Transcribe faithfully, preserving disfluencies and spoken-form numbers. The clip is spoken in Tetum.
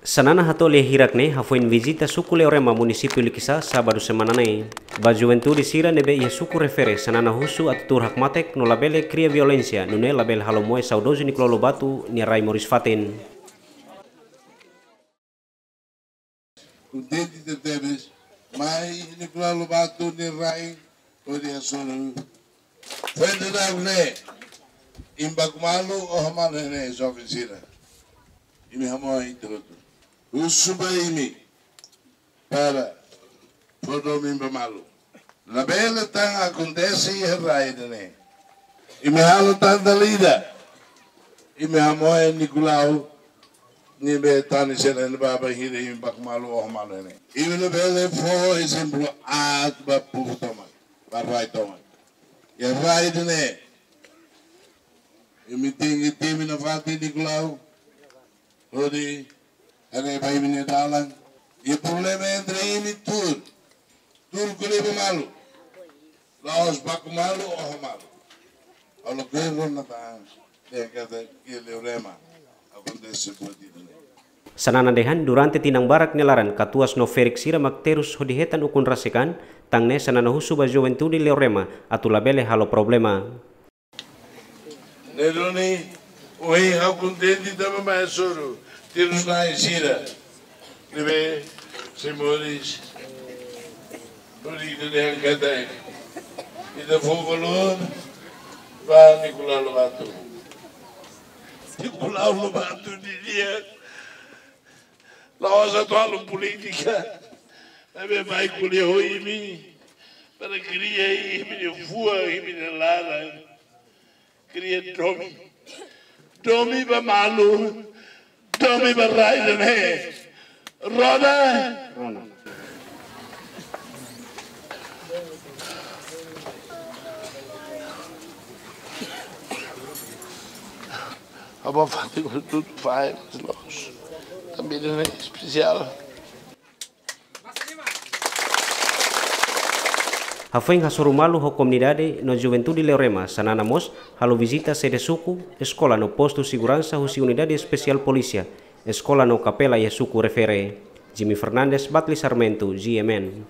Xanana hato'o lia hirak ne'e hafoin vizita suku Leorema, munisípiu Likisá, sábadu semana ne'e. Ba juventude sira ne'ebé iha suku refere, Xanana husu atu tuur hakmatek no labele kria violénsia, nune'e labele halo moe saudozu Nicolau Lobato nia rai moris-fatin. Kontente tebes, mai Nicolau Lobato nia rai, hodi hasoru. Foin daudaun ne'e, imi baku malu, oho malu ne'e, joven sira. Imi hamoe hotu-hotu. Husu ba imi, para fó domin ba malu. Labele tan akontese iha rai ida-ne'e. Imi halo tan dala ida. Imi hamoe Nicolau, ne'ebé tane sira-ne'e ba bainhira imi baku malu, oho malu ne'e. Imi labele fó ezemplu aat ba povu tomak, ba rai tomak. Iha rai ida-ne'e, imi tenke temi nafatin Nicolau, hodi haree ba imi-nia dalan. Iha problema entre imi tuur. Tuur ko'alia ba malu. La'ós baku malu, oho malu. Halo governu na tan, dehan katak iha Leorema akontese buat ida-ne'e. Xanana dehan durante tinan barak nia laran katuas no ferik sira mak terus hodi hetan ukun rasik an, tan ne'e Xanana husu ba juventude Leorema atu labele halo problema. Ne'e duni, ohin ha'u kontente tanba mai hasoru terus-na'in sira ne'ebé sei moris, hodi ita dehan katak ita fó valór ba Nicolau Lobato. Nicolau Lobato nia di'ak la'ós atu halo polítika, maibé mai ko'alia ho imi, para kria imi-nia fuan, imi-nia laran. Kria domin. Domin ba malu, domin ba rai ida-ne'e. Roda. Roda. Ha'u bá fatin hotu-hotu fai, mas loos. Tanba ida-ne'e espesiál. Hafoin hasoru malu ho komunidade no juventude Leorema, Xanana mós halo vizita sede suku, eskola no postu seguransa husi unidade espesiál polísia, eskola no kapela iha suku refere. Jimmy Fernandes, Batli Sarmento, G M N.